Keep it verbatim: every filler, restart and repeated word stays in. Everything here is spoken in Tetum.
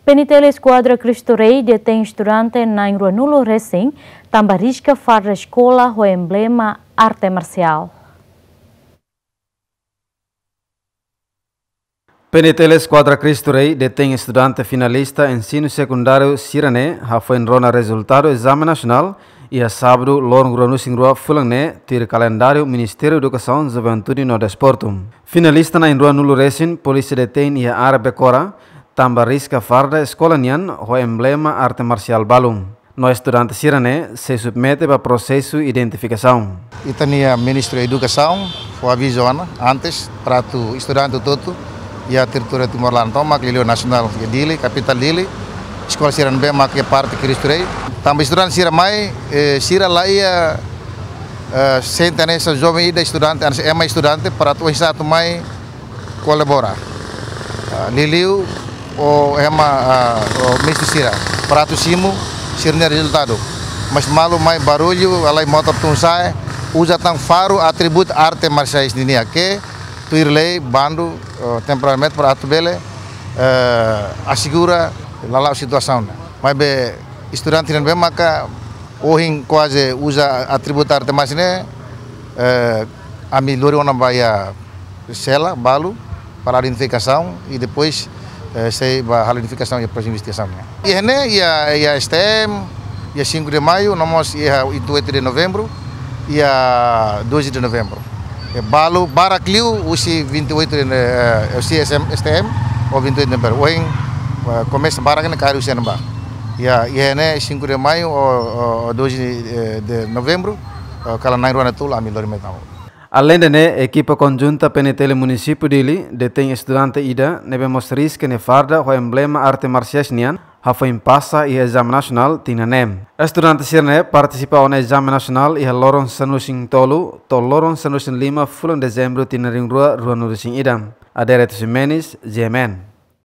PNTL Eskuadra Cristo Rei detein estudante na'in ruanulu resin, tanba riska farda eskola ho emblema arte marsiál. PNTL Eskuadra Cristo Rei detein estudante finalista ensinu sekundáriu sira-ne'e hafoin rona rezultadu ezame nasionál iha sábadu loron ruanulu-resin-rua fulan ne'e, tuir kalendáriu Ministériu Edukasaun, Juventude no Desportu. Finalista na'in ruanulu resin polísia detein iha área Becora, tanba riska farda eskola nian ho emblema arte marsiál balu. No estudante sira-ne'e sei submete ba prosesu identifikasaun. Ita-nia Ministru Edukasaun fó avizu ona antes para atu estudante hotu-hotu iha territóriu Timor-Leste tomak, liuliu nasionál iha Dili, kapitál Dili, eskola sira ne'ebé mak iha parte Cristo Rei. Tanba estudante sira mai, eh, sira la iha, eh, sente hanesan joven ida estudante, hanesan ema estudante, para atu oinsá atu mai kolabora. Ah, liuliu ho ema, ah, ho mestre sira, para atu simu sira-nia rezultadu. Mas malu mai barullu, halai motór tun-sa'e, uza tan faru, atributu arte marsiais nian ke tuir lei, bandu, eh, temporariamente para atu bele, eh, asegura lala'ok situasaun ne'e. Maibé estudante ne'ebé maka ohin kuaze uza atributu arte marsiais ne'e, eh, ami lori ona ba iha sela balu para identifikasaun i depois, eh, sei ba halo identifikasaun iha prosesu investigasaun nian. Iha ne'e iha, iha STM, iha cinco de Maio, no mós iha vinte e oito de Novembro, iha doze de Novembro. I balu barak liu husi vinte e oito de, eh, husi STM ou vinte e oito de Novembro. Ohin, eh, komesa barak ne'e kaer husi ne'ebá. Iha, iha ne'e cinco de Maio ou, ou, ou doze de, de Novembro, eh, kala na'in rua no tolu ami lori mai tau. Aleinde ne'e, ekipa konjunta PNTL Munisípiu Dili detein estudante ida ne'ebé mós riska nia farda ho emblema arte marsiais nian, hafoin pasa iha ezame nasionál tinan ne'e. Estudante sira-ne'e partisipa ona ezame nasionál iha loron sanulu-resin-tolu to'o loron sanulu-resin-lima fulan Dezembru tinan rihun rua ruanulu-resin-ida. Adérito Ximenes, GMN.